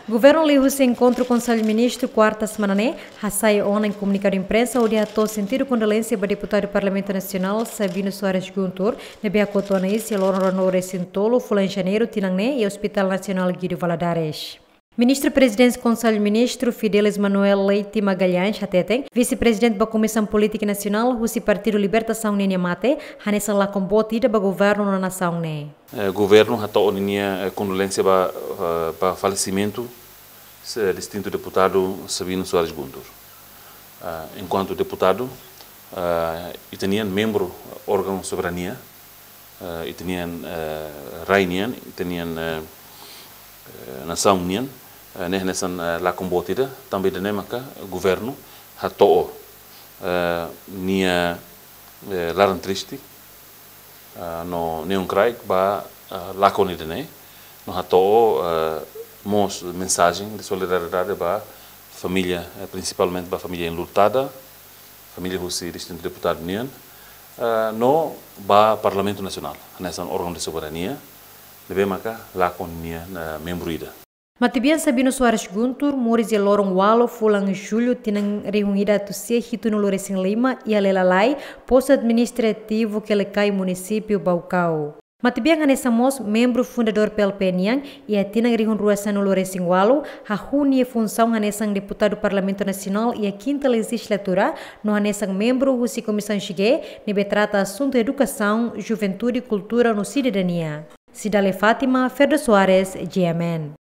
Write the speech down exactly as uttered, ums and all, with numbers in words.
Governu liuhusi enkontru Konsellu Ministru kuarta semana ne'e hasai ona komunikadu imprensa hodi hato'o sentidu kondolénsia ba deputadu Parlamentu Nasionál Sabino Soares Guntur ne'ebé hakotu ona iis iha loron ruanulu-resin-tolu fulan Janeiru tinan ne'e iha Hospital Nasionál Guido Valadares. Ministru Prezidénsia Konsellu Ministru Fidelis Manuel Leite Magalhães hateten, Vise-Prezidente ba Komisaun Polítika Nasionál husi Partidu Libertasaun nian nia mate hanesan lakon boot ida ba governu no nasaun ne'e. Eh, governu hato'o ninia, eh, kondolénsia ba, eh, ba falesimentu se distintu deputadu Sabino Soares Guntur. Ah, enkuantu deputadu, ah, ita-nian membru órgaun soberania, ah, ita-nian, eh, rai nian, ita-nian, eh, eh, nasaun nian, eh, ne'e hanesan, eh, lakon boot ida, tanba ida-ne'e maka governu hato'o, eh, nia, eh, laran triste, ah, no neon kraik ba, ah, lakon ida-ne'e, no hato'o, ah, mós mensajen de solidariedade ba família, eh, prinsipalmente ba família enlutada, família husi distintu deputadu nian, ah, no ba Parlamentu Nasionál, hanesan órgaun de soberania, ne'ebé maka lakon nian, ah, membru ida. Matebian Sabino Soares Guntur moris iha loron ualu fulan Jullu tinan rihun ida atus sia hitunulu-resin-lima iha Lelalai, Postu Administrativu Quelicai, Munisípiu Baucau. Matebian hanesan mós membru fundadór P L P nian, iha tinan rihun rua sanulu-resin-ualu, hahú nia funsaun hanesan deputadu Parlamentu Nasionál iha kinta lejizlatura, no hanesan membru husi Komisaun G ne'ebé trata asuntu edukasaun, juventude, kultura no sidadania. Cidalia Fátima, Ferdo Soares, G M N.